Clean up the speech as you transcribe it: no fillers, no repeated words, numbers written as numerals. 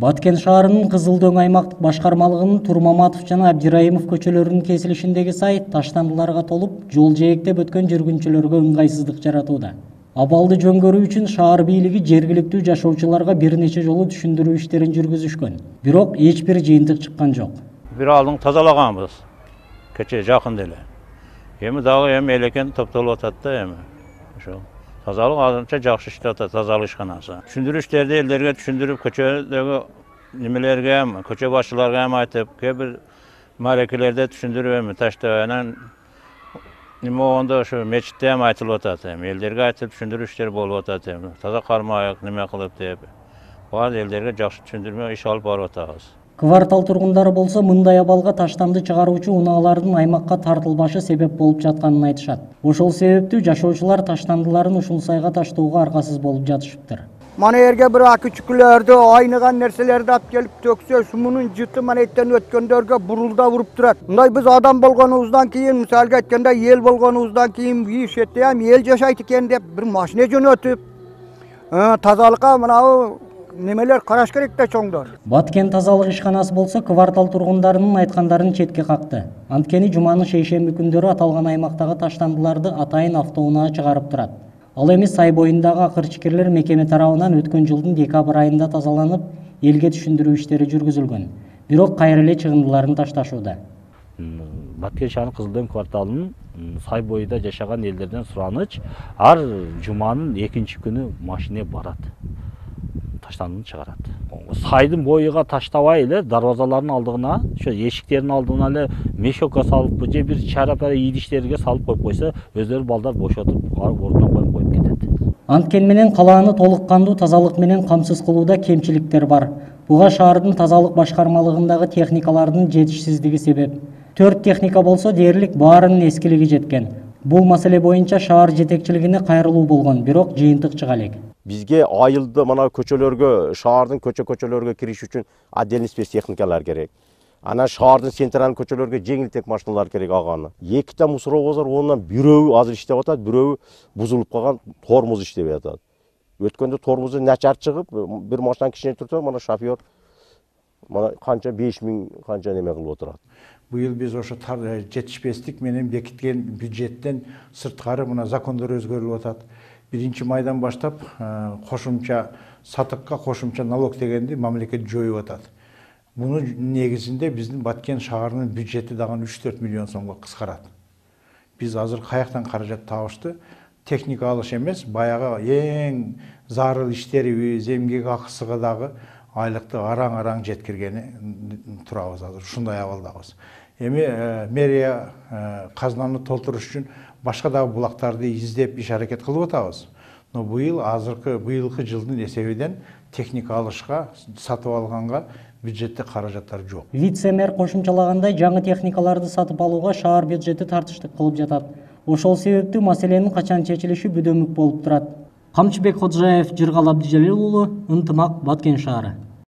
Баткен шаарынын Кызыл Дөң аймактык башкармалыгынын Турмаматов жана Абдираимов көчөлөрүнүн кесилишиндеги сай таштандыларга толуп, жол жээктеп өткөн жүргүнчүлөргө ыңгайсыздык жаратууда. Абалды жөнгөрүү үчүн шаар бийлиги жергиликтүү жашоочуларга бир нече жолу түшүндүрүү иштерин жүргүзүшкөн. Бирок эч бир жыйынтык чыккан жок. Бир алдың тазалаганбыз. Кече жакын деле. Эми дагы элекен топтолуп атат да эми. Ошол тазалык азырынча жакшы иштеп атат, тазалык ишканасы. Түшүндүрүү иштерди элдерге түшүндүрүп, көчөдөгү немелерге, көчө башчыларга айтып, кээ бир маарекелерде түшүндүрүп таштап, анан неме болгондо ошо мечитте айтылып атат. Элдерге айтып түшүндүрүү иштери болуп атат. Таза кармайык, неме кылып деп. Баары элдерге жакшы түшүндүрмө иш алып барып атабыз. Квартал тургундары болсо мындай абалга таштанды чыгаруучу унаалардын аймакка тартылбашы себеп болуп жатканын айтышат. Ошол себептүү жашоочулар таштандыларын ушул сайга таштоого аргасыз болуп жатышыптыр. Мана эрге бир күчүклөрдү, айныган нерселерди алып келип төксө, сумунун жыты мана эттен өткөндөргө бурулда уруп турат. Мындай биз адам болгонубуздан кийин, мисалга айтканда, эл болгонубуздан кийин бир четте эл жашайт экен деп бир машина жөнөтүп, тазалыкка мына немелер караш керек да чоңдор. Баткен тазалык ишканасы болсо квартал тургундарынын айткандарын четке какты. Анткени жуманын шейшемби күндөрү аталган аймактагы таштандыларды атайын автоунаа чыгарып турат. Ал эми сай боюндагы акырчыкерлер мекеме тарабынан өткөн жылдын декабрь айында тазаланып, элге түшүндүрүү иштери жүргүзүлгөн. Бирок кайра эле чыгындыларын ташташууда. Баткен шаарынын Кызыл Дөң кварталынын сай боюнда жашаган элдерден сураныч, ар жуманын экинчи күнү машина барат. Таштандыны чыгарат. Сайдын боюга таштабай эле дарбазалардын алдыгына, ошо эшиктердин алдына эле мешокко салып, же бир чарапара идиштерге салып коюп койсо, өздөрү балдар бошотуп, ордуна коюп кетет. Анткени менен калааны толук кандуу тазалык менен камсыз кылууда кемчиликтер бар. Буга шаардын тазалык башкармалыгындагы техникалардын жетишсиздиги себеп. 4 техника болсо дээрлик баарынын эскилиги жеткен. Бул маселе боюнча шаар жетекчилигине кайрылуу болгон, бирок жыйынтык чыга элек. Бизге айылды мына көчөлөргө, шаардын көчөлөргө кириш үчүн отдельный спецтехникалар керек. Анан шаардын централдык көчөлөргө жеңилтек машиналар керек аганы. Эките мусоровоз бар, онун бирөө азыр иштеп атат, бирөө бузулуп калган, тормоз иштебей атат. Өткөндө тормозу начар чыгып, бир машина кичине турса, мына шофёр мына канча 5000 канча неме кылып отурат. Быйыл биз ошо жетишпестик менен бекиткен бюджеттен сырткары мына закондор өзгөрүлүп атат. 1-майдан баштап кошумча сатыкка кошумча налог дегенди мамлекет жоюп атат. Мунун негизинде биздин Баткен шаарынын бюджети дагы 3-4 миллион сомго кыскарат. Биз азыр каяктан каражат табышты? Техника алыш эмес, баягы эң зарыл иштерибиз, эмгек акысыга дагы айлыкты араң жеткиргени турабыз азыр. Ушундай абалдабыз. Эми мэрия казнаны толтуруш үчүн башка дагы булактарды издеп иш аракет кылып атабыз. Но быйылкы жылдын эсебинен техника алышка, сатып алганга бюджетте каражаттар жок. Вице-мэр кошумчалагандай, жаңы техникаларды сатып алууга шаар бюджети тартыштык кылып жатат. Ошол себептүү маселенин качан чечилиши бүдөмүк болуп турат. Камчыбек Ходжаев, Жыргал Абдижалил уулу, Ынтымак, Баткен шаары.